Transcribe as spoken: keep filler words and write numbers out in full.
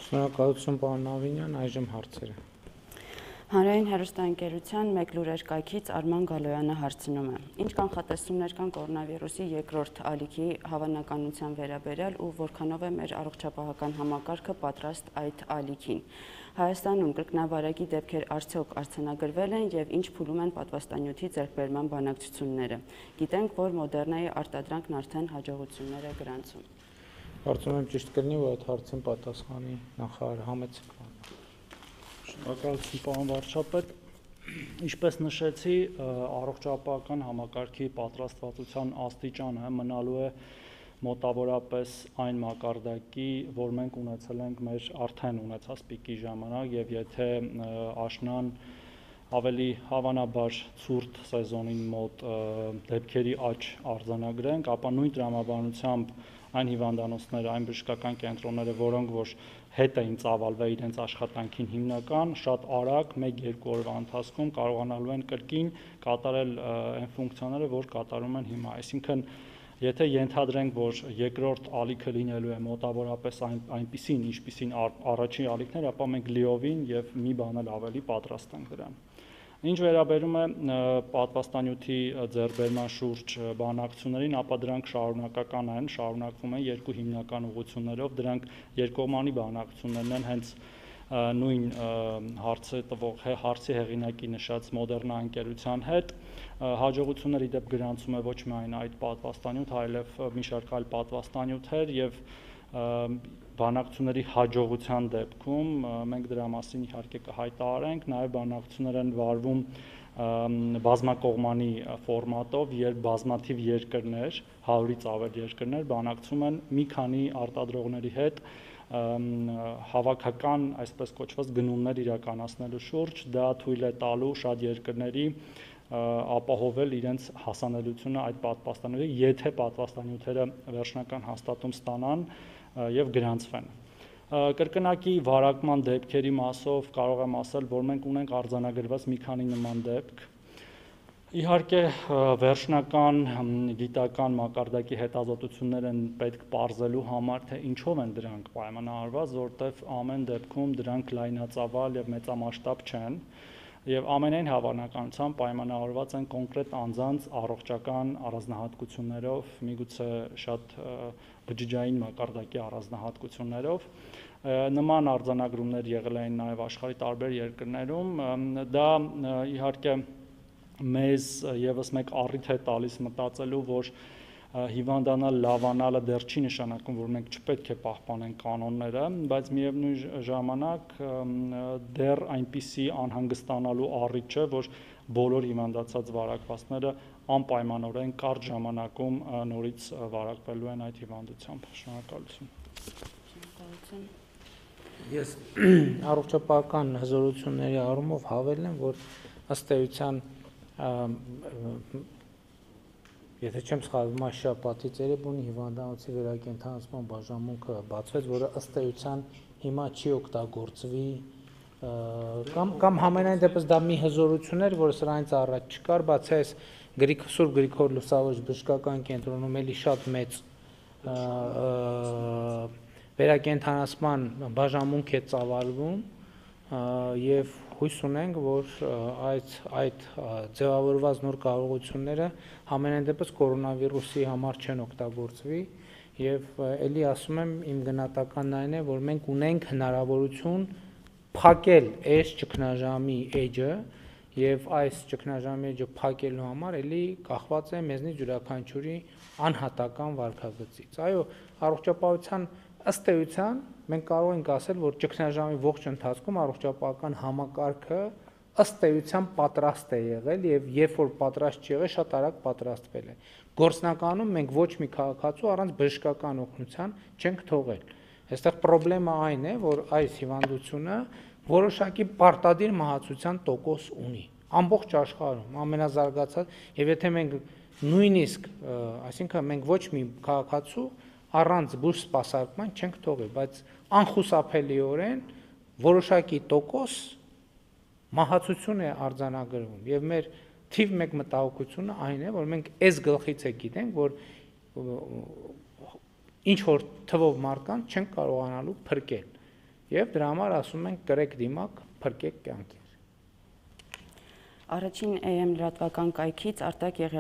Շնորհակալություն պարոն Նավինյան, այժմ հարցերը։ Հանրային հեռուստաընկերության մեկ լուրեր կայքից Արման Գալոյանը հարցնում է. Ինչ կանխատեսումներ կան կորոնավիրուսի երկրորդ ալիքի հավանականության վերաբերյալ ու որքանով է մեր առողջապահական համակարգը պատրաստ այդ ալիքին։ Հայաստանում կրկնավարակի դեպքեր արդյոք արձանագրվել են եւ ինչ փուլում են պատվաստանյութի ձեռքբերման բանակցությունները։ Գիտենք, որ Մոդեռնայի արտադրանքն արդեն հաջողություններ է գրանցում։ Կարծում եմ ճիշտ կլինի, որ այդ հարցին պատասխանի նախարար Համեցիկ։ Շնորհակալություն պարոն վարչապետ, ինչպես նշեցի, առողջապահական համակարգի պատրաստվածության աստիճանը մնալու է մոտավորապես այն մակարդակի, որ մենք ունեցել ենք մեր արդեն ունեցած պիկի ժամանակ, եւ եթե աշնան ավելի հավանաբար ցուրտ սեզոնին մոտ դեպքերի աճ արձանագրենք, ապա նույն տրամաբանությամբ այն հիվանդանոցները, այն բժշկական կենտրոնները, որոնք որ հետ էին ծավալվել իրենց աշխատանքին հիմնական, շատ արագ մեկ-երկու օրվա ընթացքում կարողանալու են կրկին կատարել այն ֆունկցիաները, որ կատարում են հիմա։ Այսինքն, եթե ենթադրենք, որ երկրորդ ալիքը լինելու է մոտավորապես այն, այնպիսին, ինչպիսին առաջին ալիքներ, ապա մենք լիովին եւ մի բան էլ ավելի պատրաստ ենք դրան։ Ինչ վերաբերում է պատվաստանյութի ձեռքբերման շուրջ բանակցություններին, ապա դրանք շարունակական են, շարունակվում են երկու հիմնական ուղղություններով, դրանք երկկողմանի բանակցություններն են, հենց նույն հարցը տվող հարցի հեղինակի նշած Մոդեռնա ընկերության հետ հաջողություններ ի դեպ գրանցում է ոչ միայն այդ պատվաստանյութ, այլև մի շարք այլ պատվաստանյութեր եւ բանակցությունների հաջողության դեպքում մենք դրա մասին իհարկե կհայտարարենք, նաև բանակցություններ են վարվում բազմակողմանի ֆորմատով, երբ բազմաթիվ երկրներ, հարյուրից ավել երկրներ բանակցում են մի քանի արտադրողների հետ հավաքական, այսպես կոչված գնումներ իրականացնելու շուրջ, դա թույլ է տալու շատ երկրների ապահովել իրենց հասանելիությունը այդ պատվաստանյութի, եթե պատվաստանյութերը վերջնական հաստատում ստանան եւ գրանցվեն։ Կրկնակի վարակման դեպքերի մասով կարող եմ ասել, որ մենք ունենք արձանագրված մի քանի նման դեպք։ Իհարկե վերջնական գիտական մակարդակի հետազոտություններ են պետք պարզելու համար, թե ինչով են դրանք պայմանավորված, որտեղ ամեն դեպքում դրանք լայնածավալ եւ մեծամասշտաբ չեն։ Եվ ամենայն հավանականությամբ պայմանավորված են կոնկրետ անձանց առողջական առանձնահատկություններով, միգուցե շատ բջջային մակարդակի առանձնահատկություններով։ Նման արձանագրումներ եղել են նաև աշխարհի տարբեր երկրներում։ Դա իհարկե մեզ եւս մեկ առիթ է տալիս մտածելու, որ հիվանդանալ, լավանալը դեռ չի նշանակում, որ մենք չպետք է պահպանենք կանոնները, բայց միևնույն ժամանակ դեռ այնպիսի անհանգստանալու առիթ չէ, որ բոլոր հիվանդացած վարակվածները անպայմանորեն կարճ ժամանակում նորից վարակվելու են այդ հիվանդությամբ։ Շնորհակալություն։ Շնորհակալություն։ Ես առողջապահական հզորությունների առումով հավելեմ, որ ըստ էության Եթե չեմ սխալվում, այս շաբաթից երևի հիվանդանոցի վերակենդանացման բաժանմունքը բացվեց, որը ըստ էության հիմա չի օգտագործվի կամ կամ համենայն դեպս դա մի հզորություն էր, որը սրանից առաջ չկար, բացի այս Գրիգ Սուրբ Գրիգոր Լուսավորիչ բժշկական կենտրոնում էլի շատ մեծ վերակենդանացման բաժանմունք է ծավալվում եւ հույս ունենք, որ այդ այդ ձևավորված նոր կարողությունները համենայն դեպս կորոնավիրուսի համար չեն օգտագործվի եւ ելի ասում եմ իմ գնահատականն այն է, որ մենք ունենք հնարավորություն փակել այս ճգնաժամի էջը եւ այս ճգնաժամի էջը փակելու համար ելի կախված է մեզնից յուրաքանչյուրի անհատական վարքագծից։ Այո, առողջապահության ըստ էության մենք կարող ենք ասել, որ ճգնաժամի ողջ ընթացքում առողջապահական համակարգը ըստ էության պատրաստ է եղել եւ երբ որ պատրաստ չի եղել, շատ արագ պատրաստվել է։ Գործնականում մենք ոչ մի քաղաքացու առանց բժշկական օգնության չենք թողել։ Այստեղ խնդրեմը այն է, որ այս հիվանդությունը որոշակի պարտադիր մահացության տոկոս ունի ամբողջ աշխարհում, ամենազարգացած, եւ եթե մենք նույնիսկ, այսինքն մենք ոչ մի քաղաքացու առանց բուժ սպասարկման չենք թողել, բայց անխուսափելիորեն որոշակի տոկոս մահացություն է արձանագրվում եւ մեր թիվ մեկ մտահոգությունը այն է, որ մենք այս գլխից է գիտենք, որ ինչ որ թվով մարդկանց չենք կարողանալու փրկել եւ դրա համար ասում ենք կրեք դիմակ, փրկեք կյանքեր։ Առաջին է էմ լրատվական կայքից Արտակ Եղիազարյանը